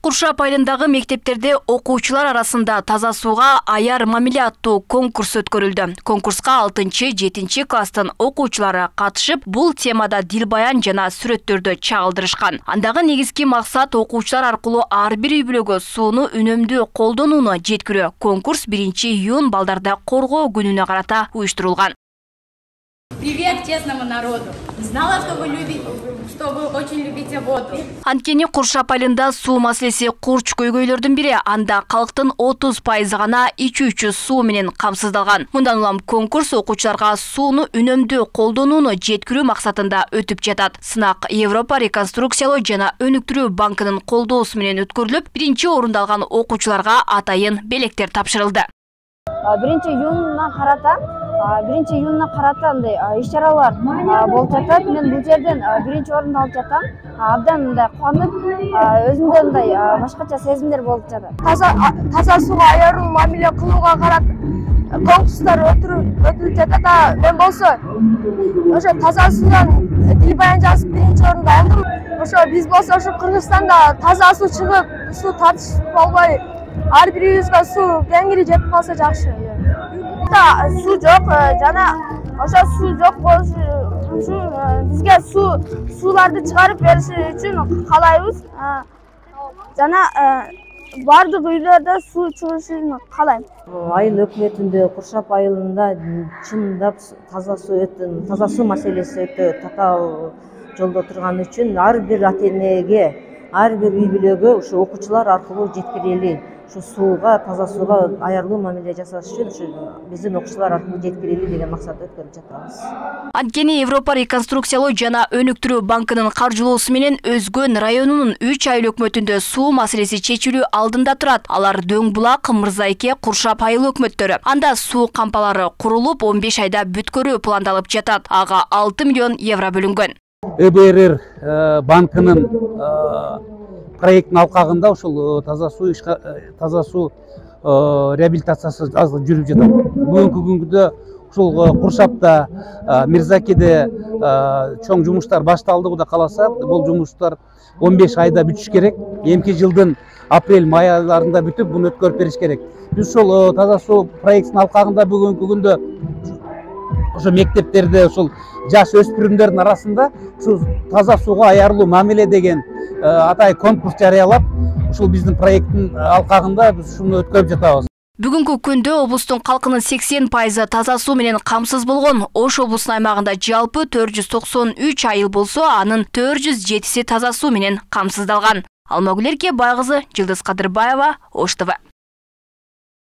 Куршап айылындагы мектептерде окуучулар арасында таза сууга аяр мамиле аттуу конкурс өткөрүлдү. Конкурска 6-7 класстын окуучулары катышып, бул темада дил баян жана сүрөттөрдү чагылдырышкан. Андагы негизги максат окуучулар аркылуу ар бир үй бүлөгө сууну үнөмдүү колдонууну жеткирүү. Конкурс 1-июнь балдарды коргоо күнүнө карата уюштурулган. Привет честному народу. Знала, что вы очень любите воду. Анткени Куршап айылында суу маселеси курч көйгөйлөрдүн бири. Анда калктын 30% гана ичүүчү суу менен камсыздалган. Мындан улам конкурс окуучуларга сууну үнөмдүү колдонууну жеткирүү максатында өтүп жатат. Сынак Европа реконструкциялоо жана өнүктүрүү банкынын колдоосу менен өткөрүлүп, 1-орунду алган окуучуларга атайын белектер тапшырылды. 1-июнга карата андай иш-чаралар болуп жатат. Мен бул жерден 1-орунду алып жатам. Абдан мындай кубанып, өзүмдө мындай башкача сезимдер болуп жатат. Таза сууга аярлуу мамиле кылууга карата конкурстар өтүлүп жатат. Мен болсо ошо таза суудан дил баян жазып 1-орунду алдым. Ошо биз болсо ошо Кыргызстанда таза суу чыгып, суу татыш болбой, ар бир үйүбүзгө суу кеңири жетип калса жакшы. Суу жок, жана ошо суу жок болуш үчүн бизге сууларды чыгарып бериш үчүн каалайбыз. Жана бардык үйлөрдө суу чыгышын каалайм. Айыл өкмөтүндө Куршап айылында чындап таза суу маселеси өтө татаал жолдо турган үчүн ар бир ата-энеге, ар бир үй бүлөгө ушу окуучулар аркылуу жеткирели. Таза сууга аярлуу мамиле жасаш үчүн биздин окуучулар аркылуу жеткирели деген максатта өткөрүп жатабыз. Анткени Европа реконструкциялоо жана өнүктүрүү банкынын каржылоосу менен Өзгөн районунун 3 айыл өкмөтүндө суу маселеси чечилүү алдында турат. Алар Дөң Булак, Мырзайке, Куршап айыл өкмөттөрү. Анда суу кампалары курулуп, 15 айда бүткөрүү пландалып жатат. Ага 6 миллион евро бөлүнгөн. ЭБРР банкынын проекттин алкагында ушул таза суу реабилитациясы азыр жүрүп жатат. Бүгүнкү күндө ушул Куршапта, Мирзакеде чоң жумуштар башталды. Кудай кааласа, бул жумуштар 15 айда бүтүш керек. Эмки жылдын апрель-май айларында бүтүп, буну өткөрүп бериш керек. Биз ушул таза суу проектинин алкагында бүгүнкү күндө ошо мектептерде ушул жаш өспүрүмдөрдүн арасында ушул таза сууга аярлуу мамиле деген атай конкурс жарыялап, ушул биздин проекттин алкагында биз ушуну өткөрүп жатабыз. Бүгүнкү күндө облустун калкынын 80% таза суу менен камсыз болгон. Ош облусунун аймагында жалпы 493 айыл болсо, анын 407си таза суу менен камсыздалган. Алмагүл Эркебай кызы, Жылдыз Кадырбаева, Ош ТВ.